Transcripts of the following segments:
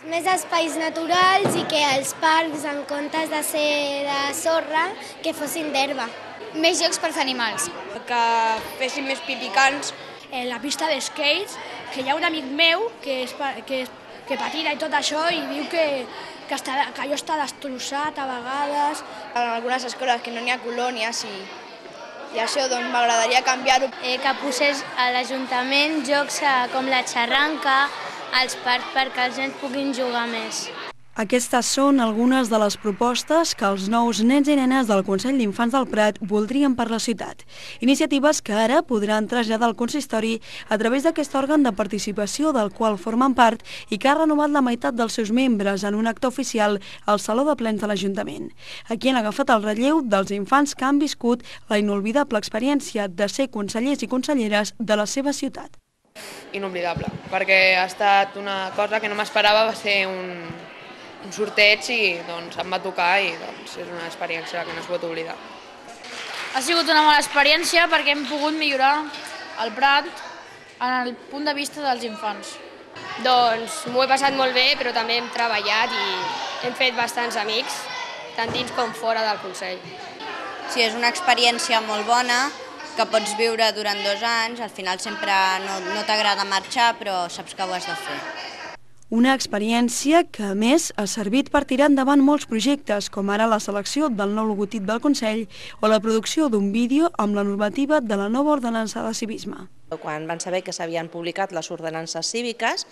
Més espais naturals i que els parcs, en comptes de ser de sorra, que fossin d'herba. Més jocs pels animals. Que fessin més pipicants. La pista d'skates, que hi ha un amic meu que patina i tot això i diu que allò està destrossat a vegades. En algunes escoles que no n'hi ha colònies i això doncs m'agradaria canviar-ho. Que posés a l'Ajuntament jocs com la xarranca, als parcs perquè els nens puguin jugar més. Aquestes són algunes de les propostes que els nous nens i nenes del Consell d'Infants del Prat voldrien per la ciutat. Iniciatives que ara podran traslladar al consistori a través d'aquest òrgan de participació del qual formen part i que ha renovat la meitat dels seus membres en un acte oficial al Saló de Plens de l'Ajuntament. Aquí han agafat el relleu dels infants que han viscut la inolvidable experiència de ser consellers i conselleres de la seva ciutat. Inoblidable, perquè ha estat una cosa que no m'esperava, va ser un sorteig i doncs em va tocar i doncs és una experiència que no es pot oblidar. Ha sigut una bona experiència perquè hem pogut millorar el Prat en el punt de vista dels infants. Doncs m'ho he passat molt bé, però també hem treballat i hem fet bastants amics, tant dins com fora del Consell. Sí, és una experiència molt bona que pots viure durant 2 anys, al final sempre no t'agrada marxar, però saps que ho has de fer. Una experiència que, a més, ha servit per tirar endavant molts projectes, com ara la selecció del nou logotip del Consell o la producció d'un vídeo amb la normativa de la nova ordenança de civisme. Quan van saber que s'havien publicat les ordenances cíviques,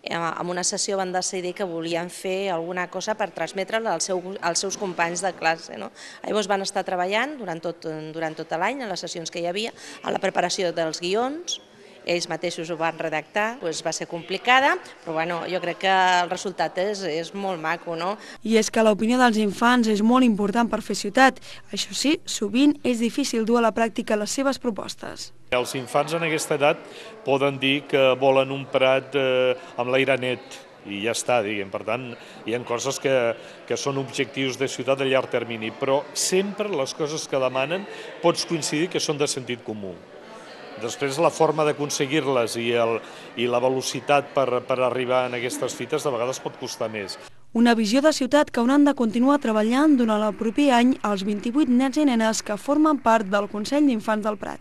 en una sessió van decidir que volien fer alguna cosa per transmetre-la als seus companys de classe. Llavors van estar treballant durant tot l'any, en les sessions que hi havia, a la preparació dels guions. Ells mateixos ho van redactar, va ser complicada, però jo crec que el resultat és molt maco. I és que l'opinió dels infants és molt important per fer ciutat. Això sí, sovint és difícil dur a la pràctica les seves propostes. Els infants en aquesta edat poden dir que volen un Prat amb l'aire net i ja està, diguem. Per tant, hi ha coses que són objectius de ciutat a llarg termini, però sempre les coses que demanen pots coincidir que són de sentit comú. Després, la forma d'aconseguir-les i la velocitat per arribar a aquestes fites de vegades pot costar més. Una visió de ciutat que hauran de continuar treballant durant el proper any els 28 nens i nenes que formen part del Consell d'Infants del Prat.